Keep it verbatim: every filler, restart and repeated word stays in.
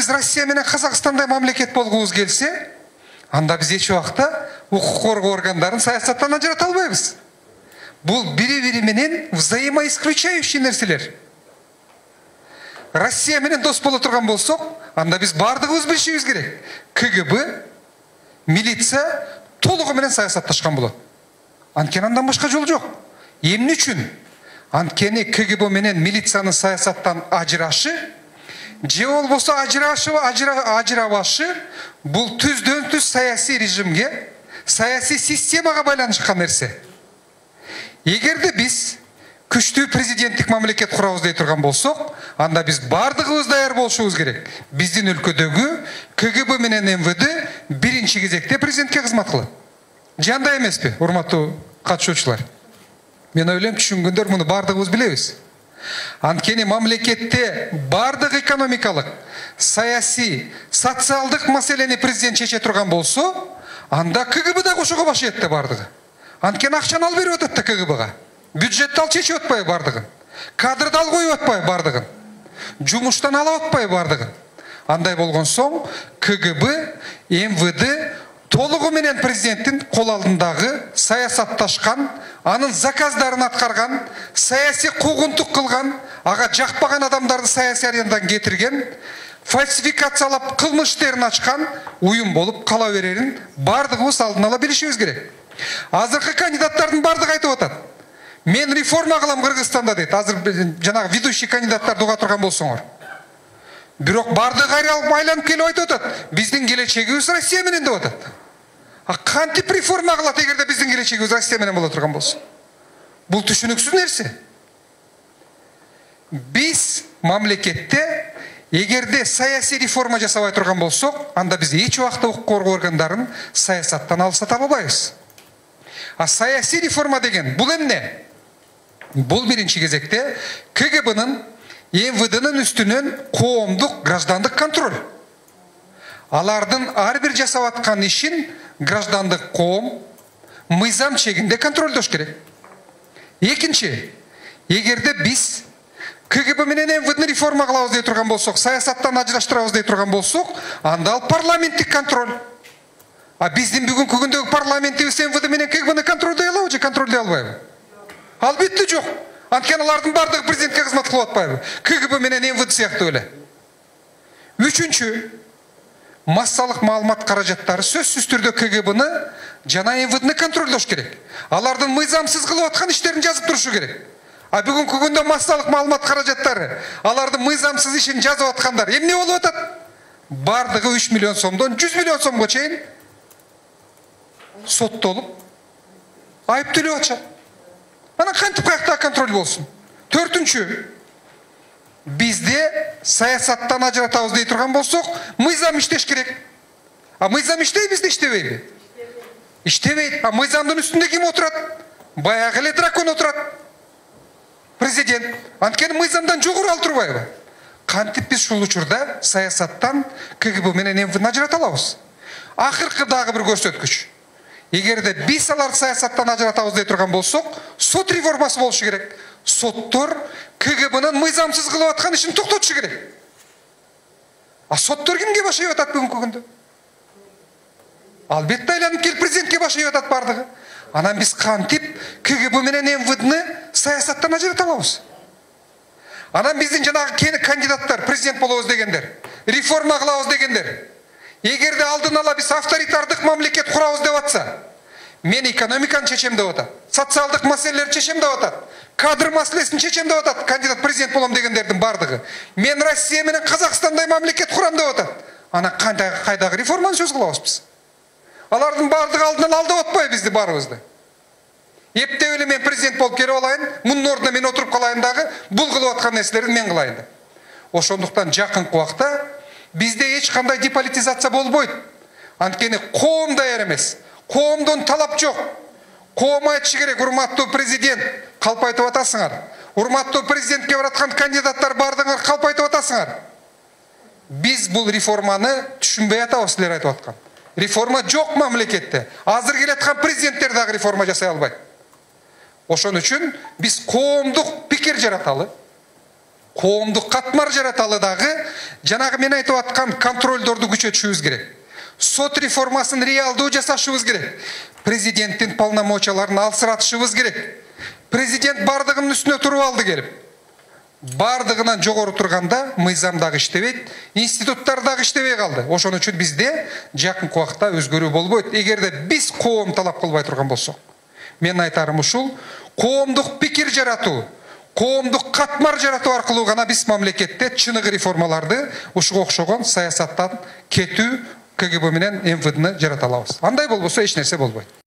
биз Россия менен Казакстандай мамлекет болгубуз келсе, анда биз эч убакта укук коргоо органдарын саясаттан ажырата албайбыз. Бул бири-бири менен взаимоисключающий нерселер. Россия менен дос боло турган болсок, анда биз бардыгыбыз билишибиз керек. КГБ, милиция толугу менен саясатташкан болот. Анткени андан башка жол жок. Эмне үчүн? Анткени КГБ менен милициянын саясаттан ажырашы, же болбосо ажырашы, ажырабашы бул түздөн түз саясий режимге, саясий системага байланышкан нерсе. Эгерде биз күчтүү президенттик мамлекет курабыз дей турган болсок, анда биз бардыгыбыз даяр болушубуз керек. Биздин өлкөдөгү КГБ менен МВД биринчи кезекте президентке кызмат кылат. Жандай эмеспи, урматтуу катышуучулар? Мен ойлойм, түшүнгөндөр муну бардыгыбыз билебиз. Анткени мамлекетте бардык экономикалык, саясий, социалдык маселени президент чече турган болсо, анда КГБ да кошого башыйт да бардыгы. Анткени акчаны ал берип атат да КГБга. Бюджетти ал чечип атпайбы бардыгын. Кадрды ал коюп атпайбы бардыгын. Жумуштан алып атпайбы бардыгын. Андай болгон соң КГБ, МВД толугу менен президенттин кол алдындагы саясатташкан, анын заказдарын аткарган, саясий куугунтук кылган, ага жакпаган адамдарды саясий аренадан кетирген, фальсификациялап кылмыш иштерин ачкан уюм болуп кала берерин бардыгыбыз алдын ала билишибиз керек. Азыркы кандидаттардын бардыгы айтып атат. Мен реформа кылам Кыргызстанда дейт. Азыр жанагы ведущий кандидаттарды уга турган болсоңор. Бирок бардыгы айланып келип айтып атат. Биздин келечегибиз Россия менен деп атат. А кантип реформа кылат эгерде биздин келечегибиз Россия менен боло турган болсо? Бул түшүнүксүз нерсе. Биз мамлекетте эгерде саясий реформа жасабай турган болсок, анда биз эч убакта укук коргоо органдарын саясаттан алсата албайбыз. А саясий реформа деген бул эмне? Бул биринчи кезекте КГБнын, МВДнын үстүнөн коомдук граждандык контроль. Алардын ар бир жасап аткан ишин граждандык коом мыйзам чегинде контролдош керек. Экинчи, эгерде биз КГБ менен МВДни реформа кылабыз дей турган болсок, саясаттан ажыраштырабыз дей турган болсок, анда ал парламенттик контроль. А биздин бүгүнкү күндөгү парламентибиз МВД менен КГБны контролдой алабы же контролдой албайбы? Албетте жок. Анткени алардын бардыгы президентке кызмат кылып атпайбы? КГБ менен МВД сыяктуу эле. Үчүнчү, массалык маалымат каражаттары сөзсүз түрдө КГБны жана МВДни контролдош керек. Алардын мыйзамсыз кылып аткан иштерин жазып турушу керек. А бүгүнкү күндө массалык маалымат каражаттары алардын мыйзамсыз ишин жазып аткандар эмне болуп атат? Бардыгы үч миллион сомдон жүз миллион сомго чейин соттолуп айыптөлөп атышат. Анан кантип каяктагы контроль болсун? Төртүнчү, бизде саясаттан ажыратабыз дей турган болсок, мыйзам иштеш керек. А мыйзам иштейби, бизде иштебейби? Иштебейт. А мыйзамдын үстүндө ким отурат? Баягы эле дракон отурат. Президент. Анткени мыйзамдан жогору ал турбайбы? Кантип биз ушул учурда саясаттан КГБ менен МВДни ажырата алабыз? Акыркы дагы бир көрсөткүч. Эгерде биз аларды саясаттан ажыратабыз дей турган болсок, сот реформасы болушу керек. Соттор КГБнын мыйзамсыз кылып аткан ишин токтотушу керек. А соттор кимге башайып атат бүгүнкү күндө? Албетте айланып келип президентке башайып атат бардыгы. Анан биз кантип КГБ менен МВДни саясаттан ажырата алабыз? Анан биздин жанагы кандидаттар, президент болобуз дегендер, реформа кылабыз дегендер, эгерде алдын ала биз авторитардык мамлекет курабыз деп атса, мен экономиканы чечем деп атат, социалдык маселелерди чечем деп атат, кадр маселесин чечем деп атат, кандидат президент болом дегендердин бардыгы. Мен Россия менен Казакстандай мамлекет курам деп атат. Анан кайдагы реформаны сөз кылабыз биз? Алардын бардыгы алдын ала алдап атпайбы бизди барыбызды? Эптеп эле мен президент болуп келип алайын, мунун ордуна мен отуруп калайын дагы, бул кылып аткан нерселерди мен кылайын деп. Ошондуктан жакынкы убакта бизде эч кандай деполитизация болбойт. Анткени коом даяр эмес. Коомдон талап жок. Коом айтышы керек, урматтуу президент, калп айтып атасыңар. Урматтуу президентке бараткан кандидаттар бардыңар, калп айтып атасыңар. Биз бул реформаны түшүнбөй атабыз, силер айтып аткан. Реформа жок мамлекетте. Азыр келаткан президенттер дагы реформа жасай албайт. Ошон үчүн биз коомдук пикир жараталы. коомдук катмар жараталы дагы жанагы мен айтып аткан контролдорду күчөтүшүбүз керек. Сот реформасын реалдуу жасашыбыз керек. Президенттин полномочияларын алсыратышыбыз керек. Президент бардыгынын үстүнө туруп алды келип. Бардыгынан жогору турганда мыйзам дагы иштебейт, институттар дагы иштебей калды. Ошон үчүн бизде жакынкы убакта өзгөрүү болбойт. Эгерде биз коом талап кылбай турган болсок. Мен айтарым ушул, коомдук пикир жаратуу, коомдук катмар жаратуу аркылуу гана биз мамлекетте чыныгы реформаларды ушуга окшогон саясаттан кетүү КГБ менен МВДны жарата алабыз. Андай болбосо эч нерсе болбойт.